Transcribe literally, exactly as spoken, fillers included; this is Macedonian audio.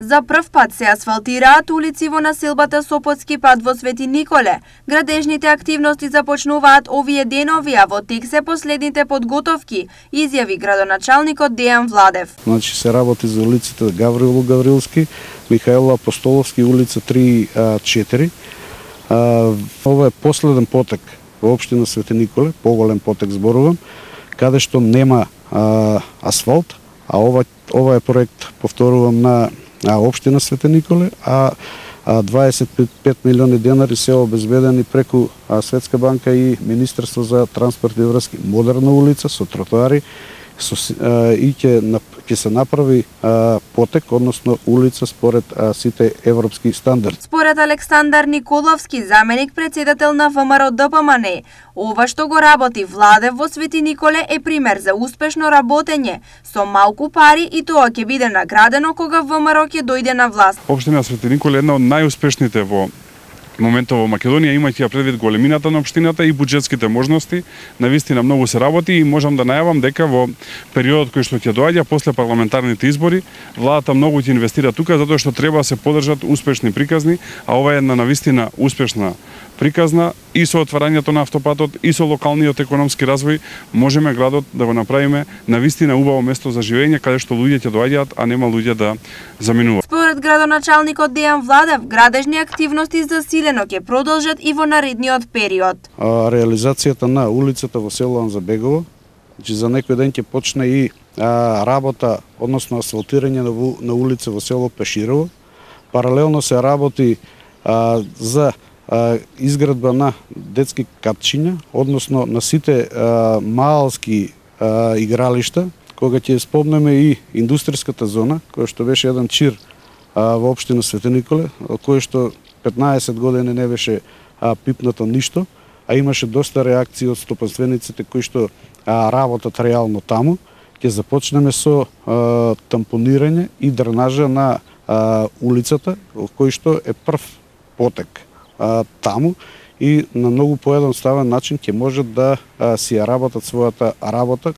За прв пат се асфалтираат улици во населбата Сопотски пат во Свети Николе. Градежните активности започнуваат овие денови, а во тек се последните подготовки, изјави градоначалникот Дејан Владев. Значи се работи за улиците Гаврило Гаврилски, Михаил Апостоловски, улица три и четири. Ова е последен потек во општина Свети Николе, поголем потек зборувам, каде што нема а, асфалт, а ова, ова е проект, повторувам, на а општина Свети Николе, а дваесет и пет милиони денари се обезбедени преку Светска банка и Министерство за транспорт и врски. Модерна улица со тротоари со, а, и ќе ќе се направи а, потек, односно улица според а, сите европски стандарди. Според Александар Николовски, заменик председател на ВМРО ДПМН, ова што го работи Владев во Свети Николе е пример за успешно работење со малку пари и тоа ќе биде наградено кога ВМРО ќе дојде на власт. Општина Свети Николе е една од најуспешните во моментот во Македонија, имајќи ја предвид големината на општината и буџетските можности. Навистина многу се работи и можам да најавам дека во периодот кој што ќе доаѓа после парламентарните избори, владата многу ќе инвестира тука затоа што треба да се поддржат успешни приказни, а ова е една навистина успешна приказна и со отварањето на автопатот и со локалниот економски развој можеме градот да го направиме навистина убаво место за живење каде што луѓе ќе доаѓаат, а нема луѓе да заминуваат. Според градоначалникот Дејан Владев, градежни активности засилено ќе продолжат и во наредниот период. А, реализацијата на улицата во село Анзабегово, значи за некој ден ќе почне и а, работа, односно асфалтирање на, на улица во село Пеширово. Паралелно се работи а, за изградба на детски капчиња, односно на сите а, маалски а, игралишта, кога ќе спомнеме и индустријската зона, која што беше еден чир а, во општина Свети Николе, кој што петнаесет години не беше а, пипнато ништо, а имаше доста реакции од стопанствениците кои што а, работат реално таму. Ќе започнеме со а, тампонирање и дренажа на а, улицата, кој што е прв потек А, таму и на многу поедноставен начин ќе можат да а, си ја работат својата работа.